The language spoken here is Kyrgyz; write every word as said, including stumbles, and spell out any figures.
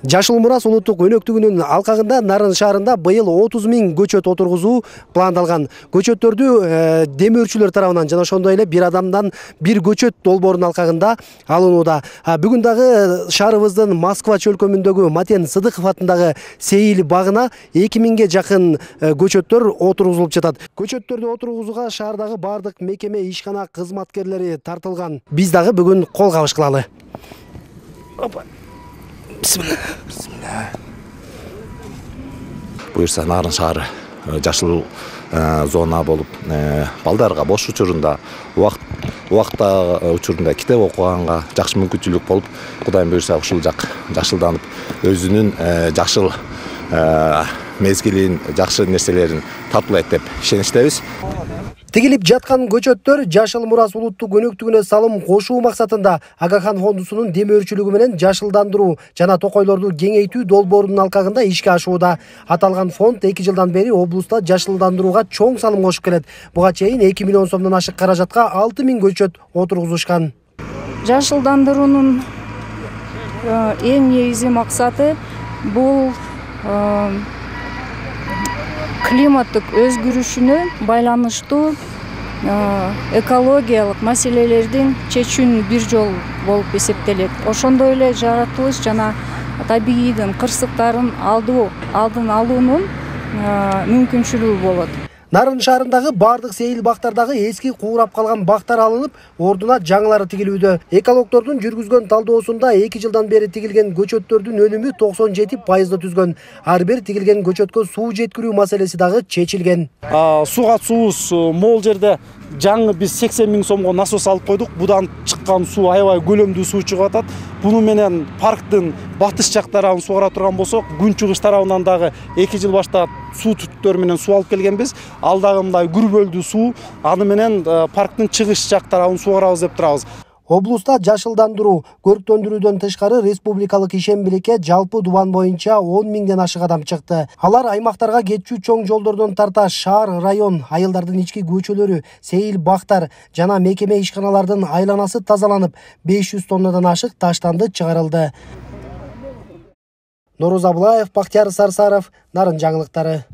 Жашыл Мурас улуттук өнөктүгүнүн алкагында Нарын шаарында быйыл отуз миң көчөт отургузуу пландалган. Көчөттөрдү демөөрчүлөр тарабынан жана ошондой эле бир адамдан бир көчөт долбоорунун алкагында алынууда. Бүгүн дагы шаарыбыздын Москва чөлкөмүндөгү Матен Сыдыков атындагы Сейил багына эки миңге жакын көчөттөр отургузулуп жатат. Көчөттөрдү отургузууга шаардагы бардык мекеме, ишкана кызматкерлери тартылган. Биз дагы бүгүн кол кабыш кылалы. Бисмилlah. Буюрса Нарын шаары жашыл зона болуп, балдарга бош учурунда, убакта учурунда китеп окуганга жакшы мүмкүнчүлүк болуп, Кудайым буюрса ушул жак жашылданып, өзүнүн жашыл мезгилин, жакшы нерселерин тартуулайт деп ишеничтебиз. Тигилип жаткан көчөттөр Жашыл Мурас улуттук өнөктүгүнө салым кошуу максатында Агахан фондусунун демөөрчүлүгү менен жашылдандыруу жана токойлорду кеңейтүү долбоорунун алкагында ишке ашууда. Аталган фонд эки жылдан бери облуста жашылдандырууга чоң салым кошуп келет. Буга чейин эки миллион сомдон ашык каражатка алты миң көчөт отургузушкан. Жашылдандыруунун эң негизги максаты бул климаттык өзгөрүшүнө байланыштуу экологиялык маселелердин чечүүнүн бир жолу болуп эсептелет. Ошондой эле жаратылыш жана табигыйдын кырсыктарын алдын алуунун мүмкүнчүлүгү болот. Нарын шаарындагы бардык сейил бактардагы эски куурап калган бактар алынып, ордуна жаңылары тигилүүдө. Экологдордун жүргүзгөн талдоосунда эки жылдан бери тигилген көчөттөрдүн өнүмү токсон жети пайызды түзгөн. Ар бир тигилген көчөткө суу жеткирүү маселеси дагы чечилген. Суга суубуз могул жерде жаңы биз сексен миң сомго насос алып койдук. Будан чыккан суу аябай көлөмдүү суу чыгып атат. Буну менен парктын батыш жак тарабын сугара турган болсок, күнчүгүш тарабынан дагы эки жыл баштап суу түтүктөрү менен суу алып келгенбиз. Ал дагы мындай күрбөлдүү суу, аны менен парктын чыгыш жак тарабын сугарабыз деп турабыз. Облуста жашылдандыруу, көрктөндүрүүдөн тышкары республикалык ишембиликке жалпы дубан боюнча он миңден ашык адам чыкты. Алар аймактарга кетчү чоң жолдордон тарта шаар, район, айылдардын ички көчөлөрү, сейил бактар жана мекеме ишканалардын айланасы тазаланып, беш жүз тоннадан ашык таштанды чыгарылды. Нороз Абылаев, Бактияр Сарсаров, Нарын жаңылыктары.